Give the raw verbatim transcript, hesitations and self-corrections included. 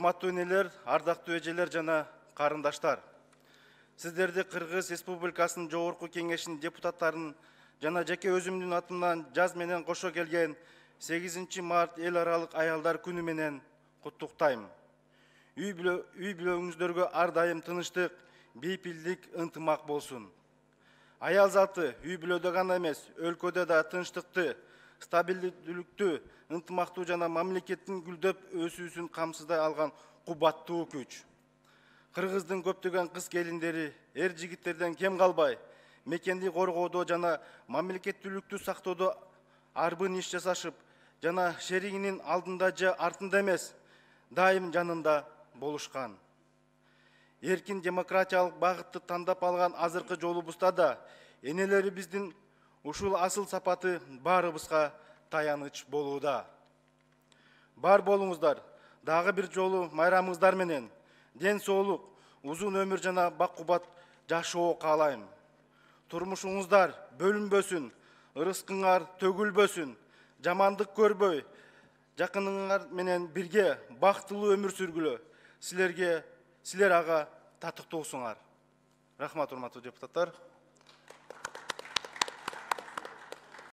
Урматтуу энелер, ардактуу эжелер жана карындаштар. Сиздерди Кыргыз Республикасынын Жогорку Кеңешинин депутаттарынын жана жеке өзүмдүн атымдан жаз менен кошо келген сегизинчи март эл аралык аялдар күнү менен куттуктайм. Үй бүлөңүздөргө ар дайым тынычтык, бейпилдик, ынтымак болсун. Аял заты үй бүлөдө гана эмес, өлкөдө да тынчтыкты, стабилдүүлүктү, ынтымактуу жана мамлекеттин гүлдөп өсүүсүн камсыздай алган кубаттуу күч. Кыргыздын көптөгөн кыз келиндери эр жигиттерден кем калбай, мекенди коргоодо жана мамлекеттүүлүктү сактоодо арбын иш жасашып, жана шеригинин алдында же артында эмес, дайым жанында болушкан. Эркин демократиялык багытты тандап алган азыркы жолубузда да энелерибиздин ушул асыл сапаты баарыбызга таяныч болууда. Бар болуңуздар, дагы бир жолу майрамыңыздар менен ден соолук, узун өмүр жана бак-кубат жашоо каалайм. Турмушуңуздар бөлүнбөсүн, ырыскыңар төгүлбөсүн, жамандык көрбөй, жакыныңар менен бирге бактылуу өмүр сүргүлө. Силерге, силер ага татыктуусуңар. Рахмат, урматтуу депутаттар.